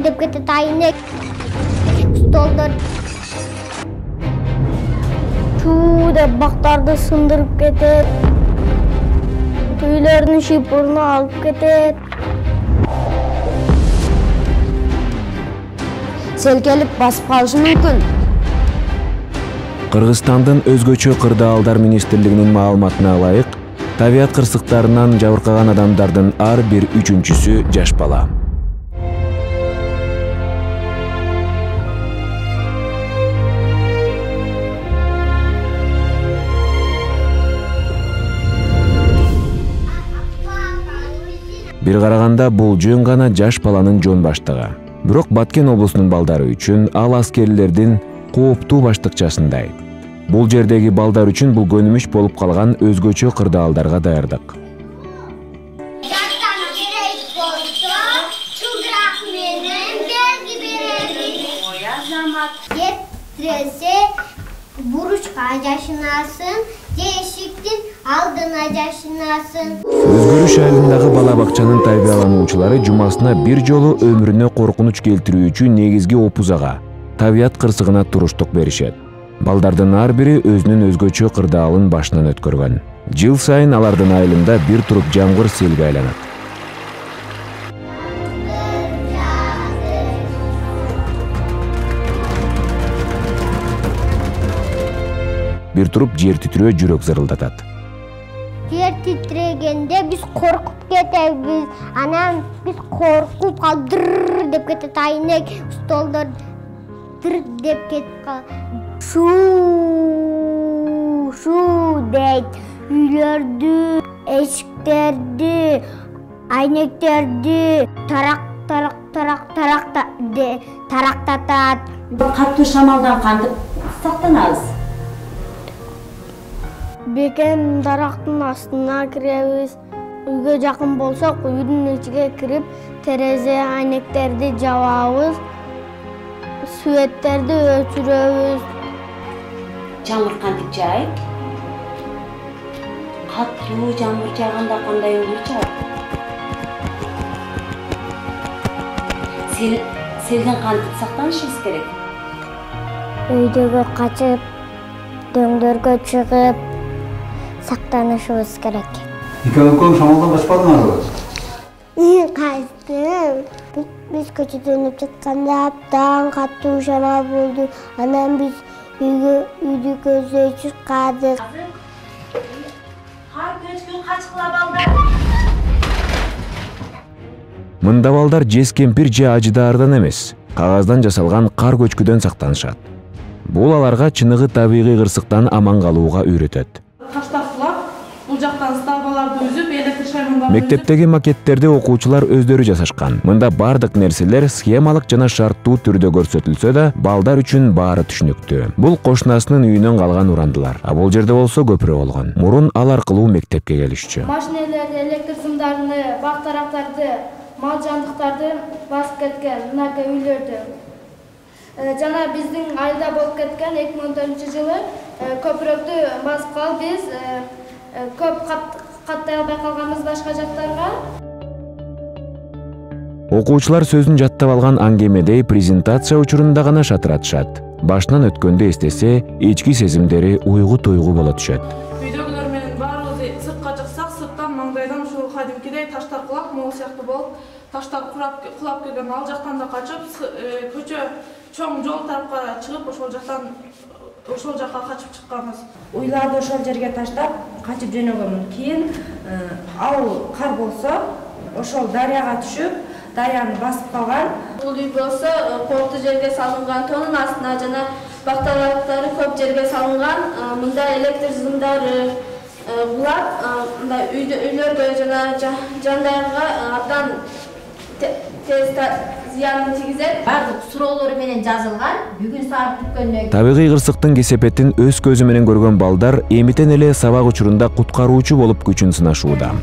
деп кетет, айнек, столдор. Чуу деп бактарды сындырып кетет. Үйлөрдүн шипурун алып кетет. Сел келип басып калышы мүмкүн. Кыргызстандын өзгөчө кырдаалдар министрлигинин маалыматына ылайык, табият кырсыктарынан жабыркаган адамдардын ар бир үчүнчүсү жаш бала. Бир караганда бул жөн гана жаш баланын жон баштыгы. Бирок Баткен облусунун балдары үчүн ал аскерлердин кооптуу баштыкчасындай. Бул жердеги балдар үчүн бул көнүмүш болуп калган өзгөчө кырдаалдарга даярдык. Буручка жашынасын, эшиктин алдына жашынасын. Өзгөрүш айылындагы бала бакчанын тарбиялануучулары жумасына бир жолу өмүрүнө коркунуч келтирүүчү негизги опузага, табият кырсыгына туруштук беришет. Балдардын ар бири өзүнүн өзгөчө кырдаалын башынан өткөргөн. Жыл сайын алардын айылында бир туруп жамгыр селге айланат. Бир туруп жер титирөө жүрөк зырылдатат. Жер титрегенде биз коркуп кетебиз. Анан биз коркуп калдыр деп кетет, айнек, столдор дыр деп кетип калат. Шу дейт. Үйлөрдү, эшиктерди, айнектерди тарактатат. Катуу шамалдан кантип сактанабыз? Бекен дарактын астына киребиз. Үйгө жакын болсок, үйдүн ичиге кирип, терезе айнектерди жабабыз. Светтерди өчүрөбүз. Жамгыр кантип жаайт? Катуу жамгыр жааганда кандай ыңгый чыгат? Селден кантип сактанышыбыз керек? Үйдөгө качып, дөңдөргө чыгып сактанышыбыз керек. Экөөң шамалдан качпадыңарбы? Качтым. Биз көчөдөн өтүп жатканда абдан катуу шамал болду. Анан биз үйдү көздөй чыккадык. Кар көчкү качкыла балдар. Мында балдар жез кемпир же ажыдаардан эмес, кагаздан жасалган кар көчкүдөн сактанышат. Бул аларга чыныгы табигый кырсыктан аман калууга үйрөтөт. Бул жактан стабаларды үзүп, электр шаймандарды Мектептеги макеттерди окуучулар өздөрү жасашкан. Мында бардык нерселер схемалык жана шарттуу түрдө көрсөтүлсө да, балдар үчүн баары түшүнүктүү. Бул кошунасынын үйүнөн калган урандылар. А бул жерде болсо көпүрө болгон. Мурун ал аркылуу мектепке келишчү. Машинелерди, электр сымдарын, бак тарактарды, мал жандыктарды басып кеткен мынакей үйлөрдү. Жана биздин айылда болуп кеткен 2014-жылы көпүрөктү басып калып биз көп каттай албай калганбыз башка жактарга. Окуучулар сөзүн жаттап алган аңгемедей презентация учурунда гана шатыратышат. Башынан өткөндө эстесе, ички сезимдери уйгу-туйгу боло түшөт. Үйдөгүлөр менен баарыбыз сыртка чыксак, сырттан маңдайдан ушул кадимкидей таштар кулап, могул сыяктуу болуп, таштар кулап келген ал жактан да качып, көчө чоң жол тарапка чыгып, ошол жакка качып чыкканбыз. Уйларды ошол жерге таштап, качып жөнөгөнмүн. Кийин ал кар болсо, ошол дарыяга түшүп, дарыяны басып калган. Бул үй болсо, коркту жерге салынган, тонун астына жана бактарактары көп жерге салынган. Мында электр сымдары кулап, мында үйлөргө жана жандарга абдан тез зыянын тийгизет. Бардык суроолору менен жазылган. Бүгүн саат бүткөндөн Табигый кырсыктын кесепетин өз көзү менен көргөн балдар эмитен эле сабак учурунда куткаруучу болуп күчүн сынашууда.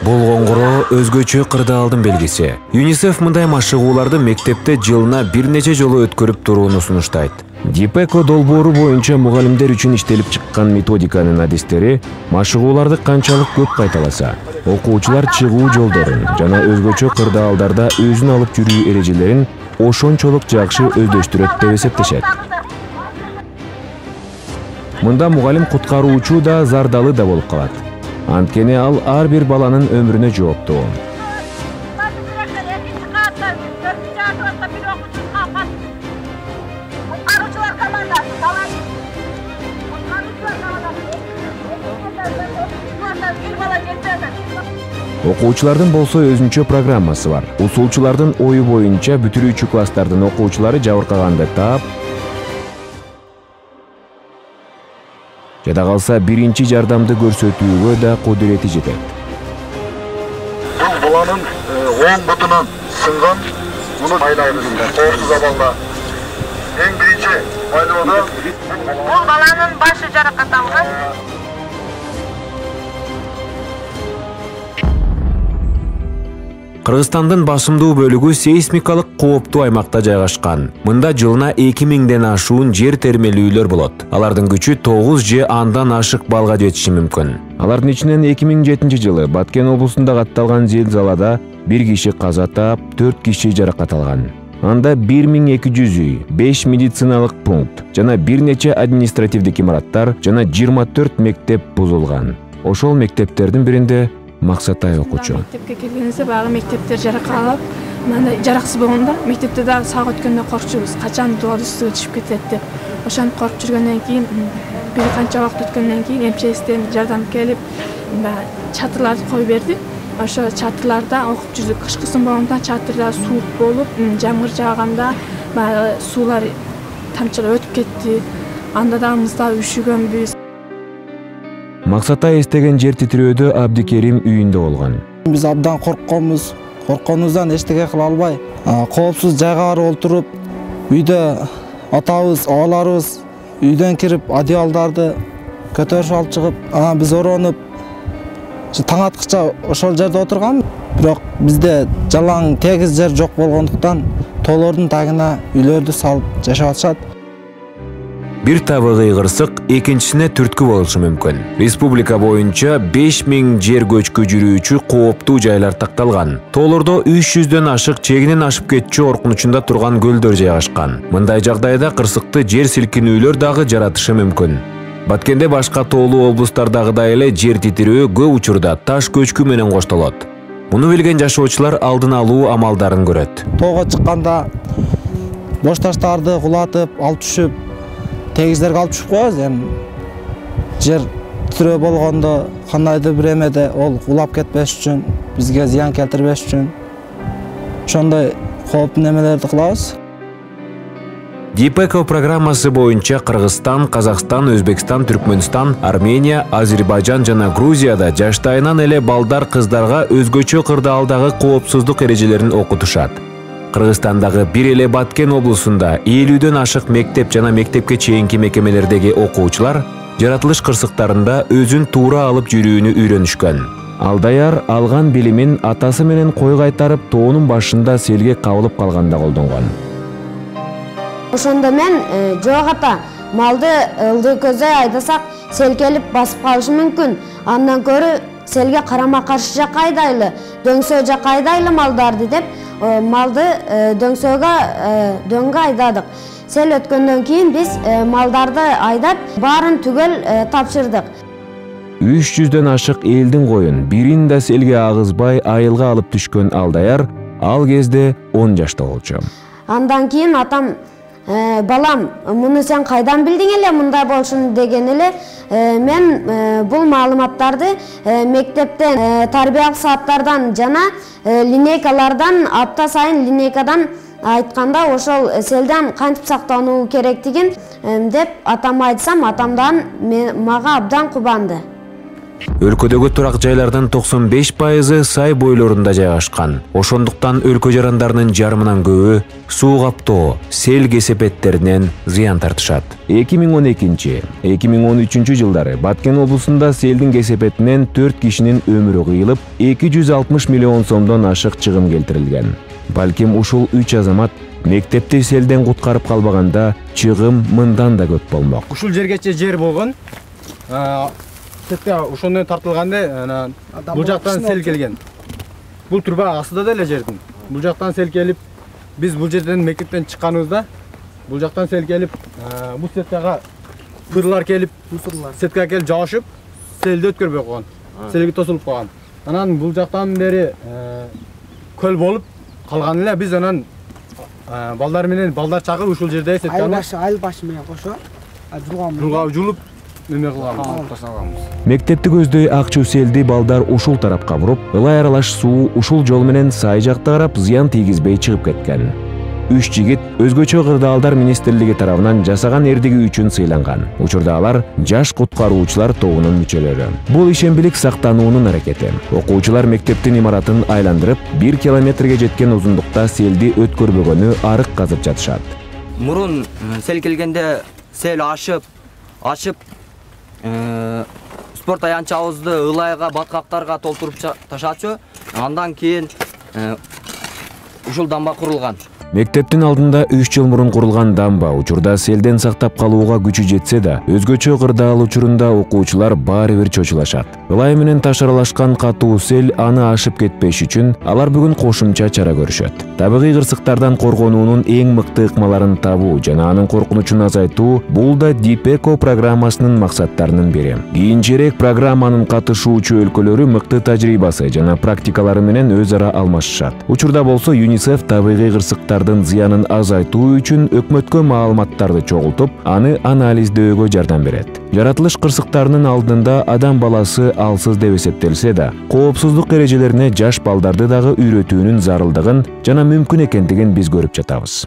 Бул коңгуроо өзгөчө кырдаалдын белгиси. ЮНИСЕФ мындай машыгууларды мектепте жылына бир нече жолу өткөрүп турууну сунуштайт. ДИПЭКО долбоору боюнча мугалимдер үчүн иштелип чыккан методиканын адистери машыгууларды канчалык көп кайталаса, окуучулар чыгуу жолдорун жана өзгөчө кырдаалдарда өзүн алып жүрүү эрежелерин ошончолук жакшы өздөштүрөт деп эсептешет. Мында мугалим куткаруучу да зардалы да болуп калат. Анткени ал ар бир баланын өмүрүнө жооптуу. Окуучулардын болсо өзүнчө программасы бар. Усулчулардын ою боюнча бүтүрүүчү класстардын окуучулары жабыркаганды таап, жада калса биринчи жардамды көрсөтүүгө да кудурети жетет. Бул баланын оң бутунан сынган, муну айлайбыз. Коопсуз абалда. Эң биринчи айлоодо бул баланын башы жаракат алган. Кыргызстандын басымдуу бөлүгү сейсмикалык кооптуу аймакта жайгашкан. Мында жылына 2000ден ашуун жер термелүүлөр болот. Алардын күчү 9 же андан ашык балга жетиши мүмкүн. Алардын ичинен 2007-жылы Баткен облусунда катталган зилзалада 1 киши каза таап, 4 киши жаракат алган. Анда 1200 үй, 5 медициналык пункт жана бир нече административдик имараттар жана 24 мектеп бузулган. Ошол мектептердин биринде Максатай окуучу. Мектепке келгенибизде баягы мектептер жаракалып, мындай жараксыз болгондо мектепте дагы саак өткөндө коркчубуз, качан дуал үстүгө түшүп кетет деп. Ошентип коркуп жүргөндөн кийин бир канча убакыт өткөндөн кийин МЧСтен жардам келип, чатырларды коюп берди. Ошо чатырларда окуп жүрдүк. Кышкысын болгондо чатырда суук болуп, жамгыр жааганда баягы суулар тамчылап өтүп кетти. Анда да муздап üşүгөнбүз. Максатай эстеген жер титирөөдө Абдикерим үйүндө болгон. Биз абдан коркконубуздан эчтеке кыла албай, коопсуз жайга барып отуруп, үйдө атабыз, ааларыбыз үйдөн кирип одеялдарды көтөрүп алып чыгып, анан биз оронуп, таң аткыча ошол жерде отурган. Бирок бизде жалаң тегиз жер жок болгондуктан тоолордун тагына үйлөрдү салып жашап атышат. Бир табыгы кырсык, экинчисине түрткү болушу мүмкүн. Республика боюнча 5000 жер көчкү жүрүүчү кооптуу жайлар такталган. Тоолордо 300дөн ашык чегинен ашып кетчү коркунучунда турган көлдөр жайгашкан. Мындай жагдайда кырсыкты жер силкинүүлөр дагы жаратышы мүмкүн. Баткенде башка тоолуу облустардагыдай эле жер титирөө көп учурда таш көчкү менен коштолот. Муну билген жашоочулар алдын алуу амалдарын көрөт. Тоого чыкканда бош таштарды кулатып, алып түшүп, тегиздерге алып түшүп коебуз. Эми жер титирөө болгондо кандайдыр бир эмеде ол кулап кетпеш үчүн, бизге зыян келтирбеш үчүн ошондой кооптуу немелерди кылабыз. ДИПЭКО программасы боюнча Кыргызстан, Казакстан, Өзбекстан, Түркмөнстан, Армения, Азербайжан жана Грузияда жаштайынан эле балдар кыздарга өзгөчө кырдаалдагы коопсуздук эрежелерин окутушат. Кыргызстандагы бир эле Баткен облусунда 50дөн ашык мектеп жана мектепке чейинки мекемелердеги окуучулар жаратылыш кырсыктарында өзүн туура алып жүрүүнү үйрөнүшкөн. Алдаяр алган билимин атасы менен кой кайтарып тоонун башында селге кабылып калганда колдонгон. Ошондо мен жок ата, малды ылдый көздөй айдасак сел келип басып калышы мүмкүн. Андан көрү селге карама каршы жакка айдайлы, дөңсөө жакка айдайлы малдарды деп малды дөңгө айдадык. Сел өткөндөн кийин биз малдарды айдап баарын түгел тапшырдык. 300дөн ашык элдин коюн бирин да селге агызбай айылга алып түшкөн Алдаяр ал кезде 10 жашта болчу. Андан кийин атам балам, муну сен кайдан билдиң эле мындай болушун деген эле. Мен бул маалыматтарды мектептен тарбиялык сааттардан жана линейкалардан апта сайын линейкадан айтканда ошол селден кантип сактануу керектигин деп атама айтсам, атамдан мага абдан кубанды. Өлкөдөгү турак жайлардын 95% сай бойлорунда жайгашкан. Ошондуктан өлкө жарандарынын жарымынан көбү суу каптоо, сел кесепеттеринен зыян тартышат. 2012-2013 жылдары Баткен облусунда селдин кесепетинен 4 кишинин өмүрү кыйылып, 260 миллион сомдон ашык чыгым келтирилген. Балким ушул 3 азамат мектепти селден куткарып калбаганда чыгым мындан да көп болмок. Ушул жергече жер болгон. Ошондон тартылганда бул жактан сел келген. Бул турба астыда деле жердин. Бул жактан сел келип, биз бул жерден мектептен чыкканыбызда бул жактан сел келип, бул сеткага кырлар келип, сеткага келип жабышып, селди өткөрбөй койгон. Селге тосулуп калган. Анан бул жактан бери көл болуп калган эле. Биз анан балдар менен балдар чагып ушул жерде сетканы айыл башы менен кошо жулгап жулуп Мектепти көздөй акчу селди балдар ушул тарапка буруп, ылай аралаш суу ушул жол менен сай жакта карап зыян тийгизбей чыгып кеткен. 3 жигит өзгөчө кырдаалдар министрлиги тарабынан жасаган эрдиги үчүн сыйланган. Учурда алар жаш куткаруучулар тобунун мүчөлөрү. Бул ишембилик сактануунун аракети. Окуучулар мектептин имаратын айландырып, 1 километрге жеткен узундукта селди өткөрбөгөнү арык казып жатышат. Мурун сел келгенде сел ашып спорт аянтчабызды ылайга, баткактарга толтуруп ташачу. Андан кийин ушул дамба курулган. Мектептин алдында 3 жыл мурун курулган дамба учурда селден сактап калууга күчү жетсе да, өзгөчө кырдаал учурунда окуучулар баары бир чочулашат. Ылай менен ташаралашкан катуу сел аны ашып кетпеш үчүн алар бүгүн кошумча чара көрүшөт. Табигый кырсыктардан коргонуунун эң мыкты ыкмаларын табуу жана анын коркунучун азайтуу бул да ДИПЭКО программасынын максаттарынын бири. Кийинчерээк программанын катышуучу өлкөлөрү мыкты тажрыйбасы жана практикалары менен өз ара алмашышат. Учурда болсо ЮНИСЕФ табигый кырсыктар зыянын азайтуу үчүн өкмөткө маалыматтарды чогултуп, аны анализдөөгө жардам берет. Жаратылыш кырсыктарынын алдында адам баласы алсыз деп эсептелсе да, коопсуздук эрежелерине жаш балдарды дагы үйрөтүүнүн зарылдыгын жана мүмкүн экендигин биз көрүп жатабыз.